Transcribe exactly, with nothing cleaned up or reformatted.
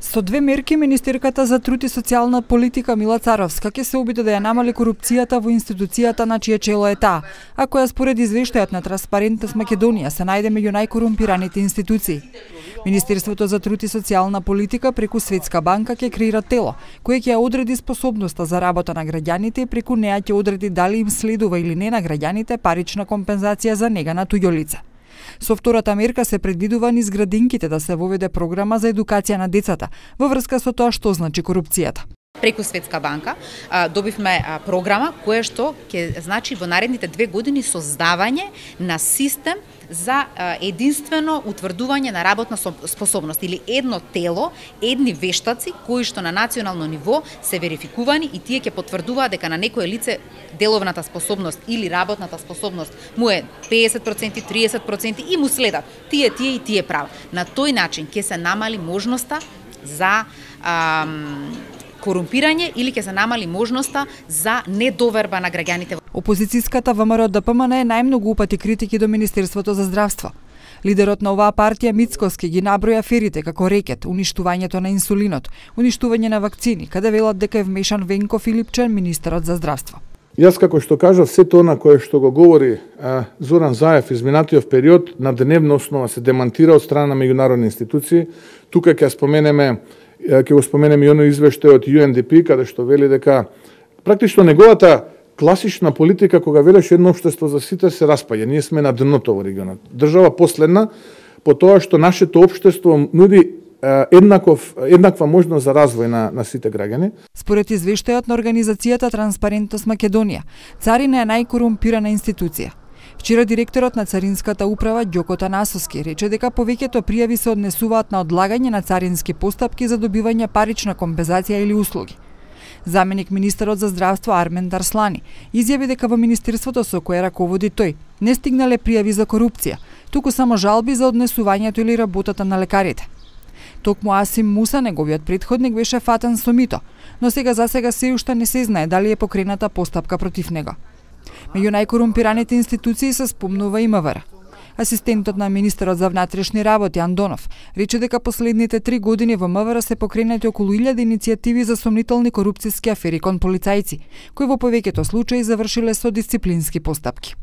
Со две мерки, министерката за труд и социјална политика Мила Царовска ќе се обиде да ја намали корупцијата во институцијата на чие чело е таа, а која според извештајот на Транспарентност Македонија се најде меѓу најкорумпираните институции. Министерството за труд и социјална политика преку Светска банка ќе креира тело, кое ќе ја одреди способноста за работа на граѓаните и преку неа ќе одреди дали им следува или не на граѓаните парична компензација за нега на туѓо лице. Со втората мерка се предвидува низ градинките да се воведе програма за едукација на децата во врска со тоа што значи корупцијата. Преку Светска банка а, добивме а, програма која што ќе значи во наредните две години создавање на систем за а, единствено утврдување на работна способност или едно тело, едни вештаци кои што на национално ниво се верификувани и тие ќе потврдуваат дека на некое лице деловната способност или работната способност му е педесет проценти, триесет проценти и му следат тие, тие и тие права. На тој начин ќе се намали можноста за ам, корумпирање или ќе се намали можноста за недоверба на граѓаните. Опозицијската ВМРО Д П М Н е најмногу упати критики до Министерството за здравство. Лидерот на оваа партија Мицкоски ги наброја аферите како рекет, уништувањето на инсулинот, уништување на вакцини, каде велат дека е вмешан Венко Филипчен, министерот за здравство. Јас како што кажав, се тоа на кое што го говори а, Зоран Заев изминатиот период на дневна основа се демантира од страна на меѓународни институции. Тука ќе споменеме ќе го споменеме и оној извештај од Ю Ен Ди Пи каде што вели дека практично неговата класична политика кога велеше едно општество за сите се распаѓа. Ние сме на дното во регионот. Држава последна по тоа што нашето општество нуди еднаков еднаква можност за развој на на сите граѓани. Според извештајот на организацијата Транспарентност Македонија, царина е најкорумпирана институција. Вчера директорот на Царинската управа Ѓоко Танасовски рече дека повеќето пријави се однесуваат на одлагање на царински постапки за добивање парична компензација или услуги. Заменик министерот за здравство Армен Дарслани изјави дека во министерството со кое раководи тој не стигнале пријави за корупција, туку само жалби за однесувањето или работата на лекарите. Токму Асим Муса, неговиот претходник, беше фатен со мито, но сега за сега се уште не се знае дали е покрената постапка против него. Меѓу најкорумпираните институции се спомнува и М В Р. Асистентот на министерот за внатрешни работи Андонов рече дека последните три години во М В Р се покренати околу илјада иницијативи за сомнителни корупцијски афери кон полицајци, кои во повеќето случаи завршиле со дисциплински постапки.